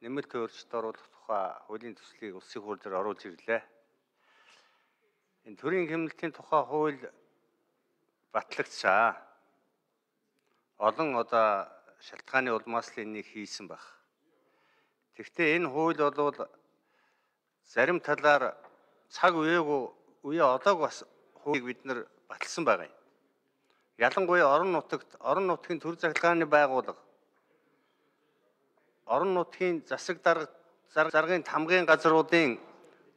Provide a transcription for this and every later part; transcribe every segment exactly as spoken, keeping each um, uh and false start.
нэмэлт өөрчлөлт оруулах тухай хуулийн төслийг улсын хурд дээр оруулж ирлээ. Энэ төрийн хэмнэлтийн тухай хууль батлагдсаа. Олон одоо шалтгааны улмаас л энийг хийсэн баг. Тэгэхдээ энэ хууль бол зарим талаар цаг үеэгүй үе одоог бас хуулийг бид нар баталсан байгаа юм. Ялангуяа орон нутагт орон нутгийн төр захиргааны байгууллага, орон нутгийн засаг дарга заргын тамгын газруудын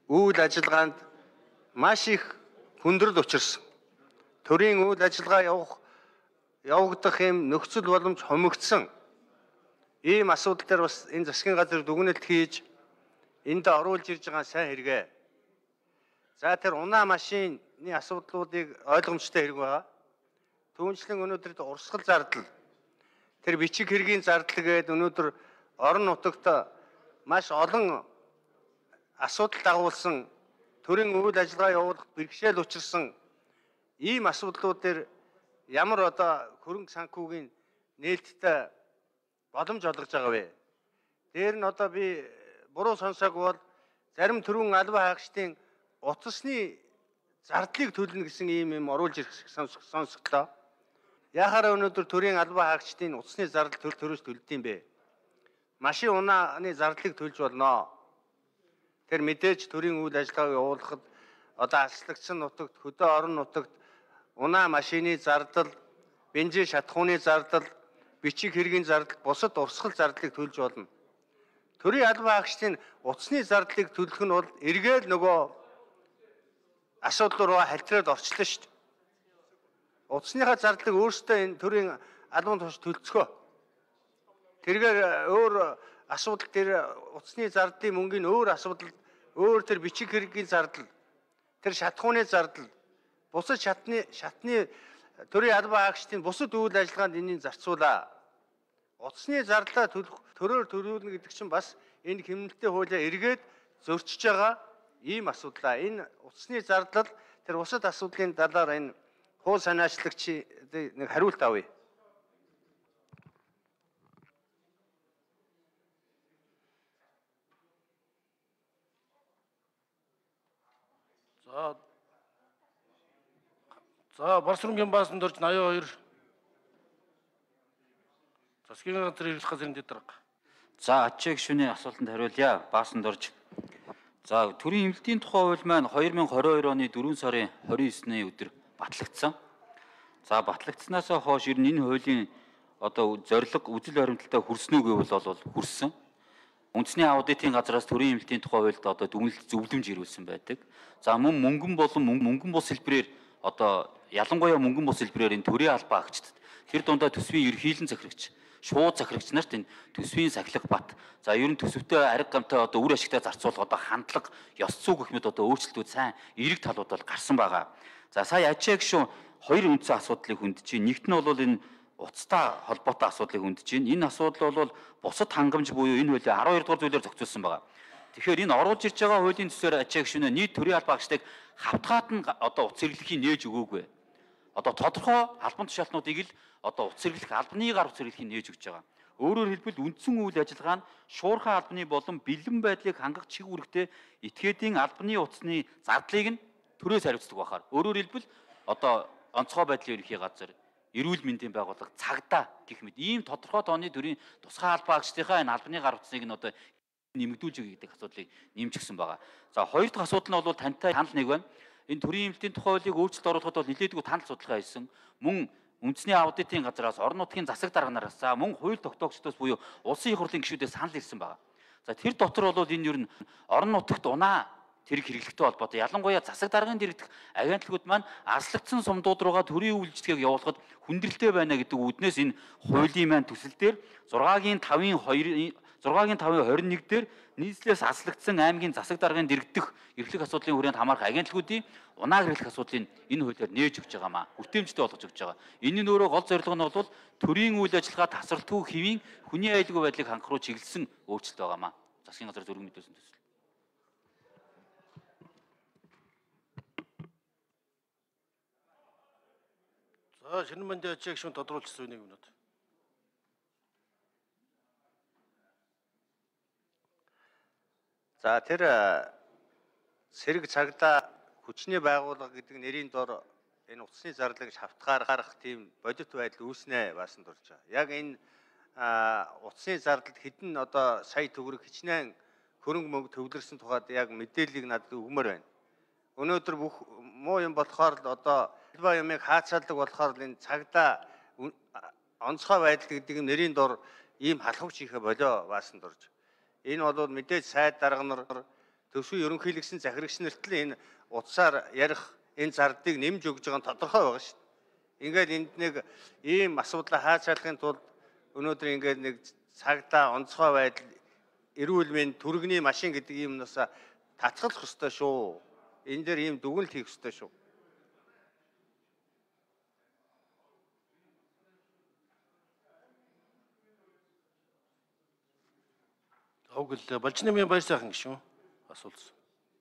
үйл ажиллагаанд маш их хүндрэл учирсан. Төрийн үйл ажиллагаа явах явагдах юм нөхцөл боломж хомигдсон. Ийм асуудал дээр бас энэ засгийн газар дүгнэлт хийж энд оруулж ирж байгаа сайн хэрэгэ. За тэр унаа машины асуудлуудыг ойлгомжтой хэрэг байгаа. Түүнчлэн өнөөдөр урсгал зардал, тэр бичиг хэргийн зардал гээд өнөөдөр орон нутагт маш олон асуудал дагуулсан, төрийн үйл ажиллагаа явуулах бэрхшээл учирсан ийм асуудлууд дээр ямар одоо хөрөнгө санхүүгийн нээлттэй боломж олгож байгаа вэ? Дээр нь одоо би буруу сонсоог бол зарим төрийн албан хаагчдын утасны зардлыг төлнө гэсэн ийм юм оруулж ирэх сонсогдлоо. Яхаар өнөөдөр төрийн албан хаагчдын утасны зардал төр төрөөс төлдөг юм бэ? Машин унааны зардлыг төлж болно. Тэр мэдээж төрийн үйл ажиллагааг явуулахад одоо аслагдсан нутагт, хөдөө орон нутагт унаа машины зардал, бензин шатахууны зардал, бичиг хэргийн зардал, бусад урсгал зардлыг төлж болно. Төрийн албан хаагчдын утасны зардлыг төлөх нь бол эргээд нөгөө асуудал руу халтраад орчлоо шүү дээ. Утасныхаа зардлыг өөрсдөө энэ төрийн албан тушаал төлцгөө. Тэргээр өөр асуудал дээр утасны зардлын мөнгөний өөр асуудал, өөр тэр бичиг хэргийн зардал, тэр шатахууны зардал, бусад шатны шатны төрийн албан хаагчдын бусад үйл ажиллагаанд энийг зарцуулаа. Утасны зардлаа төлөх төрөөр төлөвлөнө гэдэг чинь бас энэ хэмнэлттэй хуулиа эргээд зөрчиж байгаа ийм асуудлаа. Энэ утасны зардал тэр бусад асуудлын талаар энэ хууль санаачлагч нэг хариулт авъя. За За Барсрынгийн баасан дөрж восемьдесят two засгийн газрын эрхлэх газрын дэд дарга. За ачаа гишүүний асуултанд хариулъя. Баасан дөрж. За төрийн хэмнэлтийн тухай хууль маань two thousand twenty-two оны дөрвөн сарын twenty-nine-ны өдөр батлагдсан. За батлагдсанаас хойш ер нь энэ хуулийн одоо зорилго үзэл баримталтай хүрсэн үү гэвэл бол хүрсэн. Үндэсний аудитын газраас төрийн хэмнэлтийн тухай хуульд одоо дүгнэлт зөвлөмж ирүүлсэн байдаг. За мөн мөнгөн болон мөнгөн бус хэлбэрээр одоо ялангуяа мөнгөн бус хэлбэрээр энэ төрийн албан хаагчдад тэр дундаа төсвийн ерөнхийлөн захирагч, шууд захирагч нарт энэ төсвийн сахилга бат. За ер нь төсөвтэй арга гамтай одоо үр ашигтай зарцуулах одоо хандлага, ёс зүй гэх мэт одоо өөрчлөлтүүд сайн эерэг талууд бол гарсан байгаа. За сая ачаа гишүүн хоёр үндсэн асуудлыг хөндөж чинь. Нэгт нь бол энэ уцтай холбоотой асуудлыг хөндөж чинь. Энэ асуудал бол бусад хангамж буюу энэ хуулийн twelve дугаар зүйлээр зохицуулсан байгаа. Тэгэхээр энэ оруулж ирж байгаа хуулийн төсөөр ачаа гишүүнээ нийт төрийн албан хаагчдыг хавтгаад нь одоо утас хэрэглэхийг нээж өгөөгүй. Одоо тодорхой албан тушаалтнуудыг л одоо утас хэрэглэх албаны гар утас хэрэглэхийг нээж өгч байгаа. Өөрөөр хэлбэл үндсэн үйл ажиллагаа нь шуурхай албаны болон бэлэн байдлыг хангах чиг үүрэгтэй этгээдийн албаны утасны зардлыг нь төрөөс хариуцдаг байхаар. Өөрөөр хэлбэл одоо онцгой байдлын ерөнхий газар, эрүүл мэндийн байгууллага, цагдаа гэх мэт ийм тодорхой тооны төрийн тусгай албан хаагчдынхаа энэ албаны гар утсыг нь одоо нэмэгдүүлж өгье гэдэг асуудлыг нэмчихсэн байгаа. За хоёр дахь асуудал нь бол тантай танал нэг байна. Энэ төрийн хэмнэлтийн тухай хуулийг өөрчлөлт оруулахад бол нэлээдгүй танал судалгаа хийсэн. Мөн үндэсний аудитын газраас, орон нутгийн засаг дарганараас, за мөн хууль тогтоогчдоос буюу улсын их хурлын гишүүдээс санал ирсэн байгаа. За тэр дотор бол энэ ер нь орон нутагт унаа тэрэг хэрэглэхтэй холбоотой ялангуяа засаг даргын дэргэдэх агентлагууд маань аслагдсан сумдууд руугаа төрийн үйлчлэгийг явуулахад хүндрэлтэй байна гэдэг үүднээс энэ хуулийн маань төсөл дээр six-гийн five-ийн two six-гийн five-ийн twenty-one дээр нийслэлээс аслагдсан аймгийн засаг даргын дэргэдэх эрхлэх асуудлын хүрээнд хамаарах агентлагуудын унаа хэрэглэх асуудлыг энэ хуулиар нээж өгч байгаамаа. Хүртээмжтэй болгож өгч байгаа. Энэ нь өөрөө гол зорилго нь бол төрийн үйл ажиллагаа тасралтгүй хэвийн хүний аюулгүй байдлыг хангах руу чиглэсэн өөрчлөлт байгаамаа. Засгийн газар зөвлөм мэдүүлсэн төсөл. За шинэ мандат ачаа гишүүн тодруулчихсан нэг минут. За тэр сэрэг цагдаа хүчний байгууллага гэдэг нэрийн дор энэ утасны зарлаг шавтгаар гарах тийм бодит байдал үүснэ баасан дурж байгаа. Яг энэ утасны зардалд хэдэн одоо сая төгрөг хичнээн хөрөнгө мөнгө төвлөрсөн тухайд яг мэдээллийг надад өгмөр байна. Өнөөдөр бүх муу юм болохоор л одоо ба юмыг хаацаадаг болохоор л энэ цагдаа онцгой байдал гэдэг нь нэрийн дор ийм халахвч ихэ болоо баасан дурж. Энэ бол мэдээж сайд дарга нар төсвийн ерөнхийлөгчсөн захирагч нарт л энэ утсаар ярих энэ зардыг нэмж өгж байгаа нь тодорхой байгаа шүү дээ. Ингээл энд нэг ийм асуудлаа хаацаалахын тулд өнөөдөр ингээл нэг цагдаа онцгой байдал эрүүл мэнд түргэний машин гэдэг юмнаас татгалах ёстой шүү. Энэ дээр ийм дүгнэлт хийх ёстой шүү. Огл болж нэмийн баяр сайхан гişүн асуулсан.